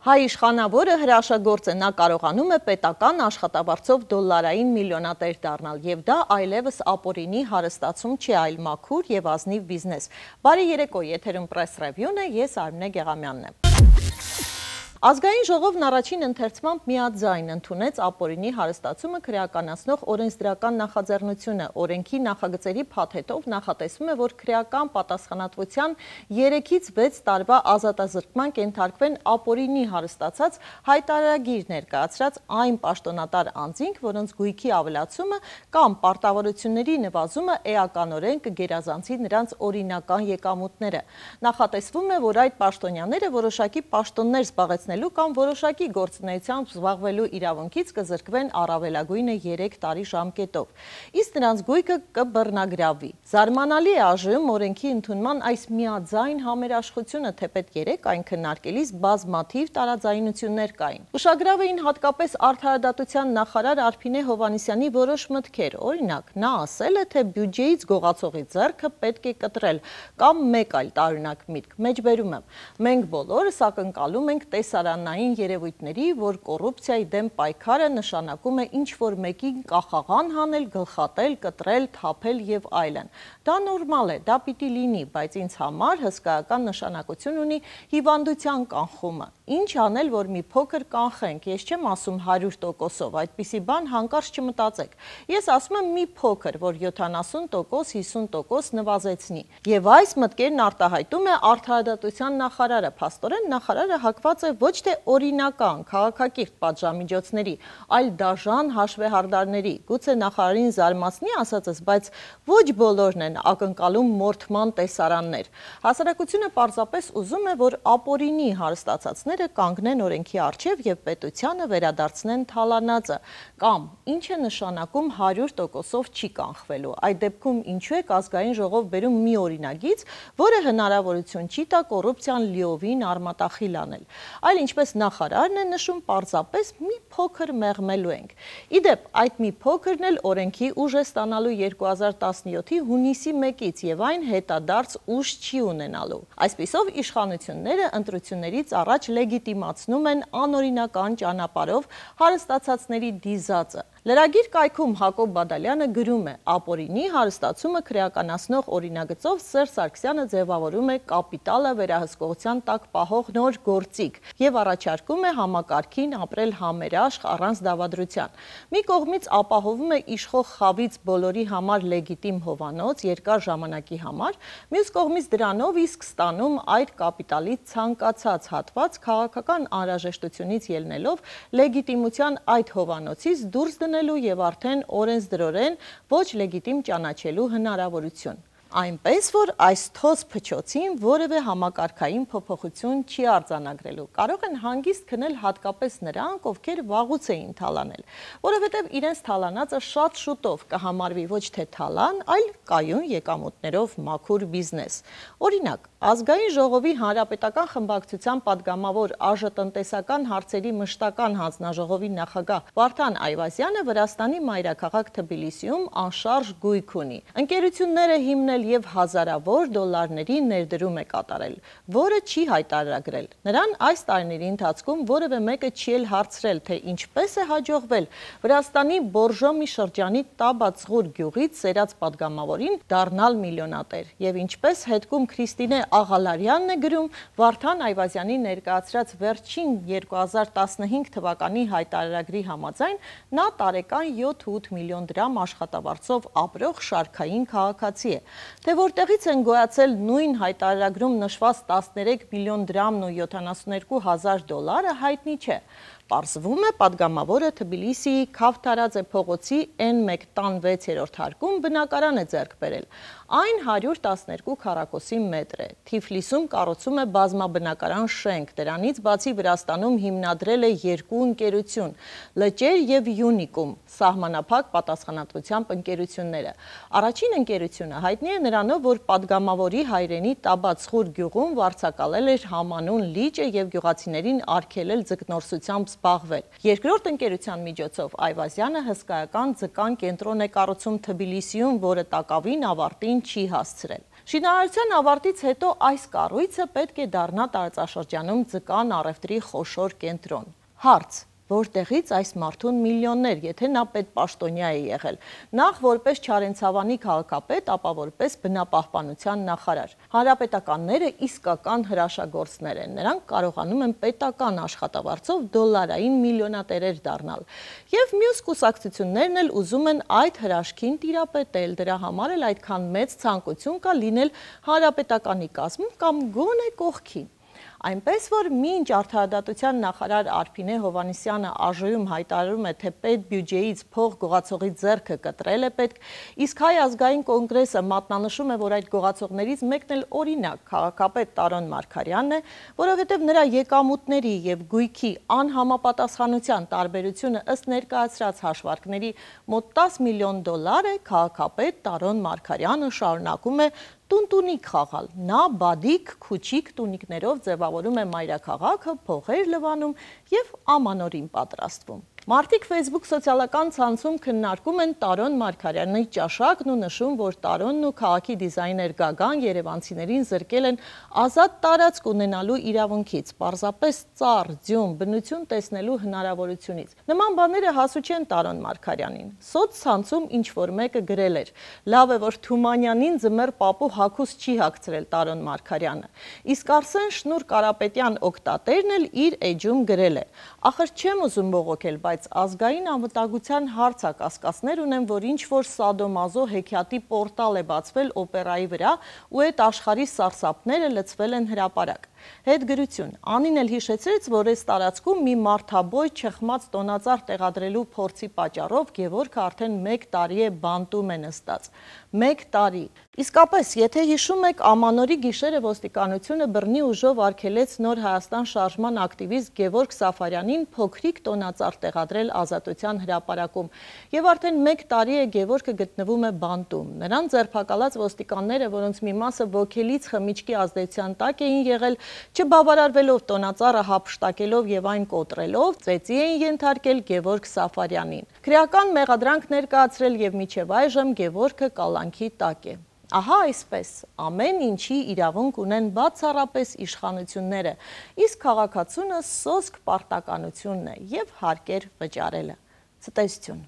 Հայ իշխանավորը հրաշագործ է, նա կարողանում է պետական աշխատավարձով դոլարային միլիոնատեր դառնալ, եւ դա այլևս ապօրինի հարստացում չի, այլ մաքուր եւ ազնիվ բիզնես։ Բարի երեկո, եթերում Press Review-ն է, ես Արմինե Գեղամյանն եմ։ Ազգային ժողովն առաջին ընթերցմամբ միաձայն ընդունեց ապօրինի հարստացումը քրեականացնող օրենսդրական նախաձեռնությունը։ Օրենքի նախագծերի փաթեթով նախատեսվում է, որ քրեական պատասխանատվության 3-ից 6 տարվա ազատազրկման կենթարկվեն ապօրինի հարստացած հայտարարագիր ներկայացրած այն պաշտոնատար անձինք, որոնց գույքի ավելացումը կամ պարտավորությունների նվազումը էականորեն կգերազանցի նրանց օրինական եկամուտները։ Նախատեսվում է, որ այդ պաշտոնյաները որոշակի պաշտոններ զբաղեցնեն կամ որոշակի գործունեությամբ զբաղվելու իրավունքից կզրկվեն առավելագույնը 3 տարի ժամկետով, իսկ նրանց գույքը կբռնագրավվի։ Զարմանալի է այժմ օրենքի ընդունման այս միաձայն համերաշխությունը, թեպետ երեկ այն քննարկելիս բազմաթիվ տարաձայնություններ կային։ Ուշագրավ էին հատկապես արդարադատության նախարար Արփինե Հովհաննիսյանի որոշ մտքեր, օրինակ, նա ասել է, թե բյուջեից գողացողի ձեռքը պետք է կտրել, կամ մեկ այլ տարօրինակ միտք, մեջբերում եմ, մենք բոլորս ակնկալում ենք տեսարանային երևույթների, որ կոռուպցիայի դեմ պայքարը նշանակում է ինչ-որ մեկին կախաղան հանել, գլխատել, կտրել, թափել եւ այլն։ Դա նորմալ է, դա պիտի լինի, բայց ինձ համար հսկայական նշանակություն ունի հիվանդության կանխումը։ Ինչ անել, որ մի փոքր կանխենք, ես չեմ ասում 100%-ով, այդպիսի բան հանկարծ չմտածեք։ Ես ասում եմ մի փոքր, որ 70%, 50% նվազեցնի։ Եվ այս մտքերն արտահայտում է արդարադատության նախարարը, փաստորեն նախարարը հակված է ոչ թե օրինական, քաղաքակիրթ պատժամիջոցների, այլ դաժան հաշվեհարդարների։ Գուցե նախարարին զարմացնի ասածս, բայց ոչ բոլորն են ակնկալում մորթման տեսարաններ։ Հասարակությունը պարզապես ուզում է, որ ապօրինի հարստացածները կանգնեն օրենքի առջև եւ պետությանը վերադարձնեն թալանածը, կամ ինչ է նշանակում 100%-ով չի կանխվելու։ Այդ դեպքում ինչու է ազգային ժողով բերում մի օրինագիծ, որը հնարավորություն չի տա կոռուպցիան լիովին արմատախիլ անել, այլ ինչպես նախարարն է նշում, պարզապես մի փոքր մեղմելու ենք։ Իդեպ, այդ մի փոքրն էլ օրենքի ուժ է ստանալու 2017-ի հունիսի 1-ից եւ այն հետադարձ ուժ չի ունենալու։ Այսպիսով իշխանությունները ընտրություններից առաջ լեգիտիմացնում են անօրինական ճանապարհով հարստացածների դիզածը։ Լրագիր կայքում Հակոբ Բադալյանը գրում է. ապօրինի հարստացումը քրեականացնող օրինագծով Սերժ Սարգսյանը ձևավորում է կապիտալը վերահսկողության տակ պահող նոր գործիք եւ առաջարկում է համակարգին ապրել համերաշխ առանց դավադրության։ Մի կողմից ապահովում է իշխող խավից բոլորի համար լեգիտիմ հովանոց երկար ժամանակի համար, մյուս կողմից դրանով իսկ ստանում այդ կապիտալի ցանկացած հատված քաղաքական անհրաժեշտությունից ելնելով լեգիտիմության այդ հովանոցից դուրս դնելու եւ արդեն օրենսդրորեն ոչ լեգիտիմ ճանաչելու հնարավորություն։ Այնպես, որ այս թոզ փչոցին որևէ համակարգային փոփոխություն չի արձանագրելու։ Կարող են հանգիստ քնել հատկապես նրանք, ովքեր վաղուց էին թալանել, որովհետև իրենց թալանածը շատ շուտով կհամարվի ոչ թե թալան, այլ կայուն եկամուտներով մաքուր բիզնես։ Օրինակ, Ազգային ժողովի հանրապետական խմբակցության падգամավոր ԱԺ-տնտեսական հարցերի մշտական հանձնաժողովի նախագահ Վարդան Այվազյանը Վրաստանի մայրաքաղաք Թբիլիսիում անշարժ գույք ունի։ Ընկերությունները հիմնել եւ հազարավոր դոլարների ներդրում է կատարել, որը չի հայտարարագրել։ Նրան այս տարիների ընթացքում որևէ մեկը չի էլ հարցրել, թե ինչպես է հաջողվել Վրաստանի Բորժոմի շրջանի Տաբացղուր գյուղից սերած падգամավորին դառնալ միլիոնատեր եւ ինչպես հետքում Քրիստինե Աղալարյանն է գրում, Վարդան Այվազյանի ներկայացրած վերջին 2015 թվականի հայտարարագրի համաձայն նա տարեկան 7-8 միլիոն դրամ աշխատավարձով ապրող շարքային քաղաքացի է։ Թե որտեղից են գոյացել նույն հայտարարագրում նշված 13 միլիոն դրամն ու 72 հազար դոլարը հայտնի չէ։ Պարզվում է, падգամավորը Թբիլիսիի Քավթարաձե փողոցի N1 տան 6-րդ հարկում բնակարան է ձեռք բերել։ Այն 112 քառակուսի մետր է։ Թիֆլիսում կառուցում է բազմաբնակարան շենք, դրանից բացի Վրաստանում հիմնադրել է 2 ընկերություն՝ Լճեր եւ Յունիկում, սահմանափակ պատասխանատվությամբ ընկերությունները։ Առաջին ընկերությունը հայտնի է նրանով, որ падգամավորի հայրենի Տաբացղուր գյուղում վարձակալել էր համանուն լիճը եւ գյուղացիներին արգելել ձկնորսությամբ զբաղվել։ Երկրորդ ընկերության միջոցով Այվազյանը հսկայական ձկան կենտրոն է կառուցում Թբիլիսիում, որը տակավին ավարտին չի հասցրել։ Շինարարության ավարտից հետո այս կառույցը պետք է դառնա տարածաշրջանում ձկան առևտրի խոշոր կենտրոն։ Հարց. որտեղից այս մարդուն միլիոններ, եթե նա պետպաշտոնյա է եղել, նախ որպես Չարենցավանի քաղաքապետ, ապա որպես բնապահպանության նախարար։ Հանրապետականները իսկական հրաշագործներ են, նրանք կարողանում են պետական աշխատավարձով դոլարային միլիոնատերեր դառնալ։ Եվ մյուս կուսակցություններն էլ ուզում են այդ հրաշքին տիրապետել, դրա համար էլ այդքան մեծ ցանկություն կա լինել հանրապետականի կազմում կամ գոնե կողքին։ Այնպես, որ մինչ արդարադատության նախարար Արփինե Հովհաննիսյանը ԱԺ-ում հայտարարում է, թե պետբյուջեից փող գողացողի ձեռքը կտրել է պետք, իսկ Հայ ազգային կոնգրեսը մատնանշում է, որ այդ գողացողներից մեկն էլ օրինակ քաղաքապետ Տարոն Մարգարյանն է, որովհետև նրա եկամուտների եւ գույքի անհամապատասխանության տարբերությունը ըստ ներկայացրած հաշվարկների մոտ 10 միլիոն դոլար է, քաղաքապետ Տարոն Մարգարյանը շարունակում է տունտունիկ խաղալ, նա բադիկ, քուչիկ տունիկներով ձևավորում է մայրաքաղաքը, փողեր լվանում և ամանորին պատրաստվում։ Մարդիկ Facebook սոցիալական ցանցում քննարկում են Տարոն Մարգարյանի ճաշակն ու նշում, որ Տարոնն ու քաղաքի դիզայներ Գագան երևանցիներին զրկել են ազատ տարածք ունենալու իրավունքից, պարզապես ծառ, ձյուն, բնություն տեսնելու հնարավորությունից։ Նման բաները հասու չեն Տարոն Մարգարյանին։ Սոցցանցում ինչ-որ մեկը գրել էր. լավ է, որ Թումանյանին ձմեռ պապու հագուստ չի հագցրել Տարոն Մարգարյանը։ Իսկ Արսեն Շնուր Կարապետյան օգտատերն էլ իր էջում գրել է. ախր չեմ ուզում բողոքել, բայց ազգային անվտանգության հարցակասկածներ ունեմ, որ ինչ-որ սադոմազո հեքիաթի պորտալ է բացվել օպերայի վրա ու այդ աշխարհի սարսափները լցվել են հրապարակ։ Հետգրություն. Անին էլ հիշեցրեց, որ այս տարածքում մի մարդաբոյ չխմած տոնածառ տեղադրելու փորձի պատճառով Գևորգը արդեն 1 տարի է բանտում է նստած։ 1 տարի։ Իսկապես, եթե հիշում եք, Ամանորի գիշերը ոստիկանությունը բռնի ուժով արգելեց Նոր Հայաստան շարժման ակտիվիստ Գևորգ Սաֆարյանին փոքրիկ տոնածառ տեղադրել Ազատության հրապարակում։ Եվ արդեն 1 տարի է Գևորգը գտնվում է բանտում։ Նրան ձերբակալած ոստիկանները, որոնց մի մասը ոգելից խմիչքի ազդեցության տակ էին եղել, չբավարարվելով տոնածառը հափշտակելով եւ այն կոտրելով, ծեծի էին ենթարկել Գևորգ Սաֆարյանին։ Քրեական մեղադրանք ներկայացրել եւ մինչեւ այժմ Գևորգը կալանքի տակ է։ Ահա այսպես, ամեն ինչի իրավունք ունեն բացառապես իշխանությունները, իսկ քաղաքացունը սոսկ պարտականությունն է եւ հարկեր վճարելը։ Ցտեսություն։